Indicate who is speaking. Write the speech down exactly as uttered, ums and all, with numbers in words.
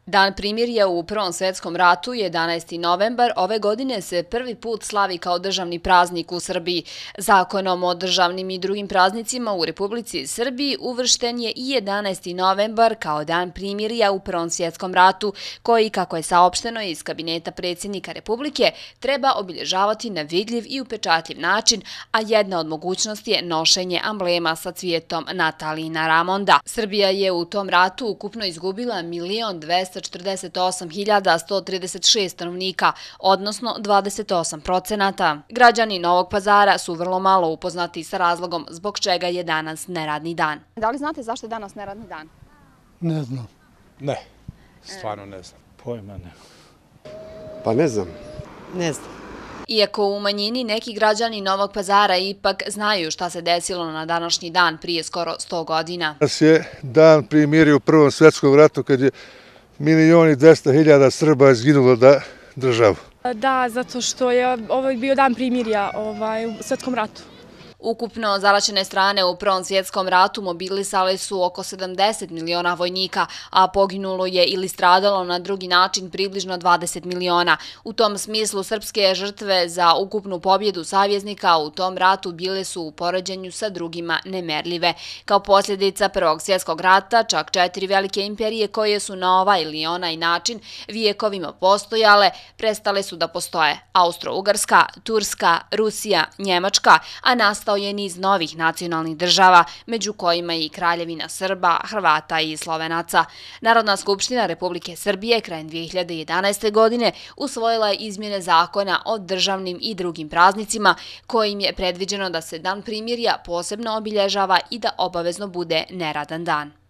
Speaker 1: Dan primirja u Prvom svjetskom ratu, jedanaesti novembar, ove godine se prvi put slavi kao državni praznik u Srbiji. Zakonom o državnim i drugim praznicima u Republici Srbiji uvršten je i jedanaesti novembar kao dan primirja u Prvom svjetskom ratu, koji, kako je saopšteno iz kabineta predsjednika Republike, treba obilježavati na vidljiv i upečatljiv način, a jedna od mogućnosti je nošenje amblema sa cvijetom Natalina Ramonda. Srbija je u tom ratu ukupno izgubila milion dvesta četrdeset osam hiljada sto trideset šest stanovnika, odnosno dvadeset osam procenata. Građani Novog Pazara su vrlo malo upoznati sa razlogom zbog čega je danas neradni dan.
Speaker 2: Da li znate zašto je danas neradni dan?
Speaker 3: Ne znam.
Speaker 4: Ne, stvarno ne znam.
Speaker 3: Pojma ne.
Speaker 5: Pa ne znam.
Speaker 6: Ne znam.
Speaker 1: Iako u manjini neki građani Novog Pazara ipak znaju šta se desilo na današnji dan prije skoro sto godina.
Speaker 7: Danas je dan primirja u Prvom svjetskom ratu kad je milion i dvesta hiljada Srba izginulo da državu.
Speaker 8: Da, zato što je ovo bio dan primirja ovaj, u svjetskom ratu.
Speaker 1: Ukupno zaraćene strane u Prvom svjetskom ratu mobilisale su oko sedamdeset miliona vojnika, a poginulo je ili stradalo na drugi način približno dvadeset miliona. U tom smislu srpske žrtve za ukupnu pobjedu savjeznika u tom ratu bile su u poređenju sa drugima nemerljive. Kao posljedica Prvog svjetskog rata, čak četiri velike imperije koje su na ovaj ili onaj način vijekovima postojale, prestale su da postoje. Austro-Ugarska, Turska, Rusija, Njemačka, a nastao je niz novih nacionalnih država, među kojima i Kraljevina Srba, Hrvata i Slovenaca. Narodna skupština Republike Srbije krajem dvije hiljade jedanaeste. godine usvojila je izmjene zakona o državnim i drugim praznicima, kojim je predviđeno da se dan primirja posebno obilježava i da obavezno bude neradan dan.